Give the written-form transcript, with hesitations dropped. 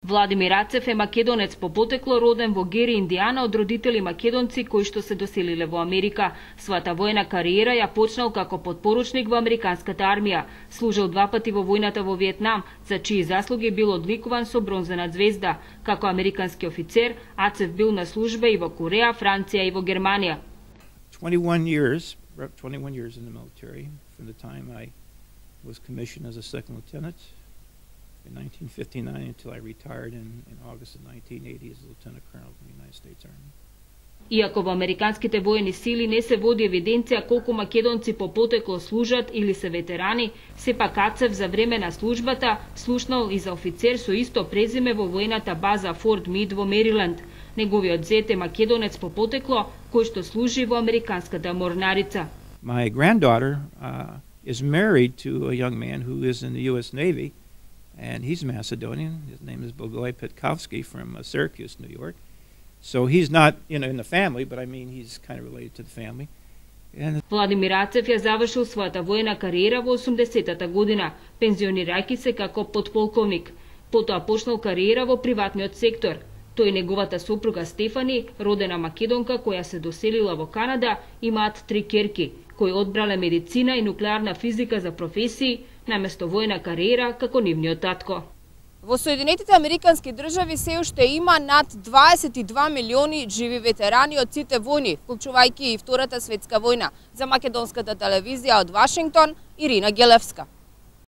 Владимир Ацев е македонец по потекло, роден во Гери, Индијана, од родители македонци кои што се доселиле во Америка. Својата војна кариера ја почнал како подпоручник во американската армија. Служил 2 пати во војната во Виетнам, за чии заслуги бил одликуван со бронзена звезда. Како американски офицер, Ацев бил на служба и во Кореја, Франција и во Германија. 21 years in the military from the time I was commissioned as a second lieutenant in 1959 until I retired in August of 1980 as a lieutenant colonel in the United States Army. Иако во американските воени сили не се води евиденција колку македонци по потекло служат или се ветерани, сепак Ацев за време на службата слушнал и за офицер со исто презиме во војната база Форт Мид во Мериленд. Неговиот зет е македонец по потекло кој што служи во американската морнарица. My granddaughter is married to a young man who is in the U.S. Navy, and he's Macedonian. His name is Bogoy Petkovsky from Syracuse, New York. So he's not in the family, but I mean he's kind of related to the family. Владимир Ацев ја завршил својата војна кариера во 80-та година, пензионирајќи се како подполковник. Потоа почнал кариера во приватниот сектор. Тој и неговата сопруга Стефани, родена македонка која се доселила во Канада, имаат 3 ќерки, кои одбрале медицина и нуклеарна физика за професии, наместо војна кариера како нивниот татко. Во Соединетите Американски држави се уште има над 22 милиони живи ветерани од сите војни, вклучувајќи и Втората светска војна. За македонската телевизија од Вашингтон, Ирина Гелевска.